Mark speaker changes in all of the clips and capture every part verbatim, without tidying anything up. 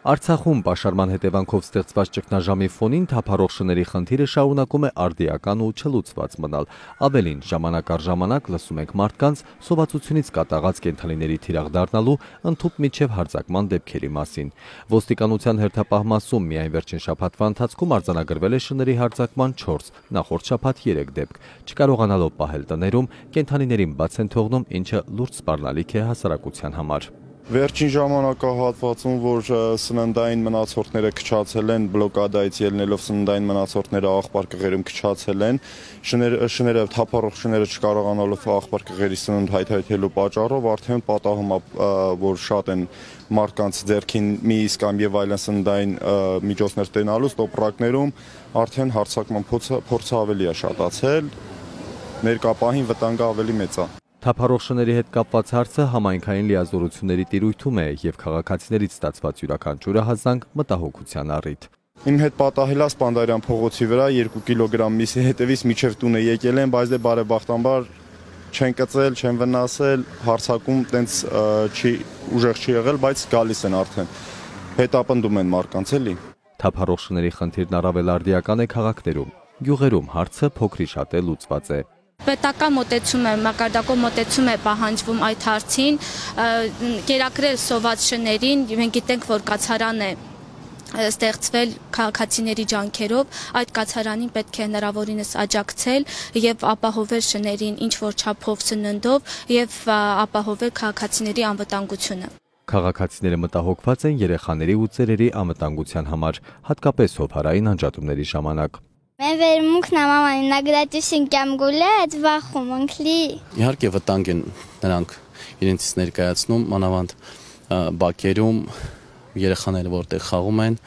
Speaker 1: Արցախում պաշարման հետևանքով ստեղծված ճգնաժամի ֆոնին թափառող շների խնդիրը շարունակում է արդիական ու չլուծված մնալ։ Ավելին, ժամանակ առ ժամանակ լսում ենք մարդկանց սովածությունից կատաղած կենդանիների թիրախ դառնալու ընդհուպ միջև հարձակման դեպքերի մասին։ Ոստիկանության հերթապահ մասում միայն վերջին շաբաթվա ընթացքում արձանագրվել է շների հարձակման չորս, նախորդ շաբաթ երեք դեպք։ Չկարողանալով պահել տներում, կենդանիներին բաց են թողնում, ինչը լուրջ սպառնալիք է հասարակության համար։
Speaker 2: Վերջին ժամանակահատվածում, որ սննդային մնացորդները քչացել են, բլոկադայից ելնելով սննդային մնացորդները աղբար կղերում քչացել են, շները թափառող շները չկարողանալով աղբար կղերի սնունդ հայթայթելու պատճառով արդեն պատահում է, որ շատ են մարդկանց ձեռքին մի իսկ կամ եւ այլն սննդային միջոցներ տենալուց տոպրակներում արդեն հարձակման փորձը ավելի է շատացել, ներկա պահին վտանգը ավելի մեծ է։
Speaker 1: Թափառող շների հետ կապված հարցը համայնքային լիազորությունների տիրույթում է եւ քաղաքացիներից ստացված յուրաքանչյուրը հազանգ մտահոգության առիթ։
Speaker 2: Իմ հետ պատահել է Սպանդարյան փողոցի վրա երկու կիլոգրամ միսի հետևից միջև տունը եկել են, բայց դե բարեբախտաբար չեն կծել, չեն վնասել, հարձակում տենց չի ուժեղ չի եղել, բայց գալիս են արդեն։ Հետապնդում են մարդկանց էլի։
Speaker 1: Թափառող շների խնդիրն առավել արդիական է քաղաքներում։ Գյուղերում հարցը փոքրի շատ է լուծված է։
Speaker 3: Պետական մոտեցում է, մակարդակով մոտեցում է պահանջվում այդ հարցին, կերակրել սոված շներին, մենք գիտենք, որ կացարան է ստեղծվել քաղաքացիների ջանքերով, այդ կացարանին պետք է հնարավորինս աջակցել եւ ապահովել շներին ինչ որ չափով սննդով եւ ապահովել քաղաքացիների անվտանգությունը։
Speaker 1: Քաղաքացիները մտահոգված են երեխաների ու ծերերի անվտանգության համար, հատկապես հովհարային անջատումների ժամանակ։
Speaker 4: Mən vermukն ամաման նագրատուսին կյամ գուլեց վախում ընքլի։
Speaker 5: Իհարկե վտանգ են նրանք իրենցից ներկայացնում, մանավանդ բակերում երեխաները որտեղ խաղում են,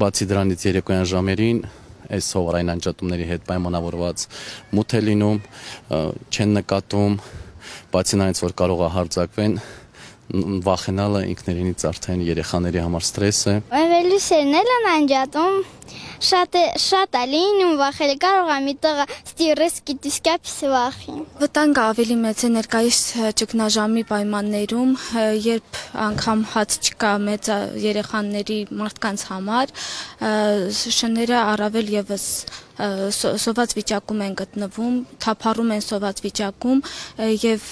Speaker 5: բացի դրանից երեկոյան ժամերին այս հովհարային անջատումների հետ պայմանավորված մութ է լինում, չեն նկատում, բացի նրանից որ կարող է հարձակվեն, վախենալը ինքներինից արդեն երեխաների համար ստրես է։
Speaker 4: Վերլուսերն էլ են անջատում, շատ շատ է լինում վախել, կարող է մի տղա ստիրես կիտիսկապիս վախի։
Speaker 3: Վտանգը ավելի մեծ է ներկայիս ճգնաժամի պայմաններում, երբ անգամ հաց չկա մեծ երեխաների մարդկանց համար, շները առավել եւս սոված վիճակում են գտնվում, թափառում են սոված վիճակում եւ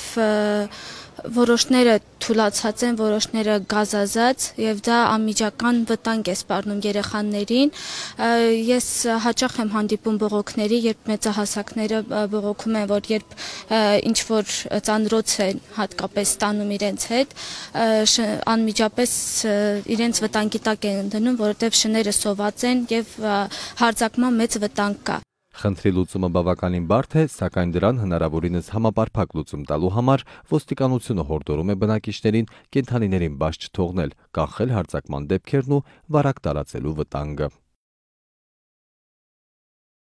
Speaker 3: որոշները թուլացած են, որոշները գազազած եւ դա անմիջական վտանգ է սպառնում երեխաներին։ Ես հաճախ եմ հանդիպում բողոքների, երբ մեծահասակները բողոքում են, որ երբ ինչ որ ծանրոց են հատկապես ստանում իրենց հետ, անմիջապես իրենց վտանգի տակ են դնում, որովհետեւ շները սոված են եւ հարձակման մեծ վտանգ կա։
Speaker 1: Խնդրի լուծումը բավականին բարդ է, սակայն դրան հնարավորինս համապարփակ լուծում տալու համար ոստիկանությունը հորդորում է բնակիչներին կենդանիներին բաց չթողնել, կանխել հարձակման դեպքերն ու վարակ տարածելու վտանգը։